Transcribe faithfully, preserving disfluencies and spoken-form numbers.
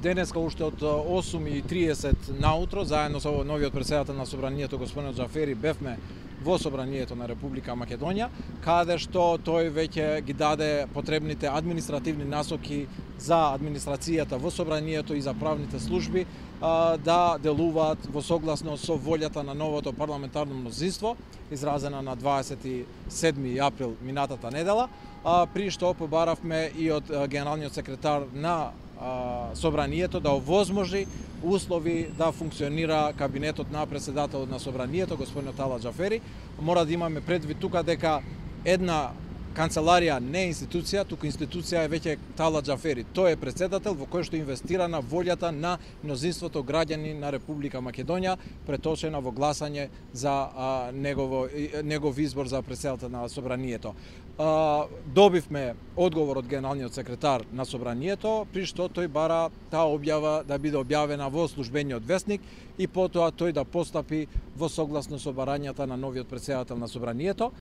денеска уште од осум и триесет наутро, заедно со новиот претседател на Собранието господин Џафери, бевме во Собранието на Република Македонија, каде што тој веќе ги даде потребните административни насоки за администрацијата во Собранието и за правните служби да делуваат во согласно со волјата на новото парламентарно мнозинство, изразена на дваесет и седми април минатата недела, при што побаравме и од генералниот секретар на Собранието да овозможи услови да функционира кабинетот на претседателот на Собранието, господин Талат Џафери. Мора да имаме предвид тука дека една канцеларија не е институција, туку институција е веќе Талат Џафери. Тој е претседател во кој што инвестира на волјата на мнозинството граѓани на Република Македонија, преточена во гласање за а, негово, негов избор за претседател на Собранието. А, добивме одговор од генералниот секретар на Собранието, при што тој бара таа објава да биде објавена во службениот весник и потоа тој да постапи во согласно со барањата на новиот претседател на Собранието.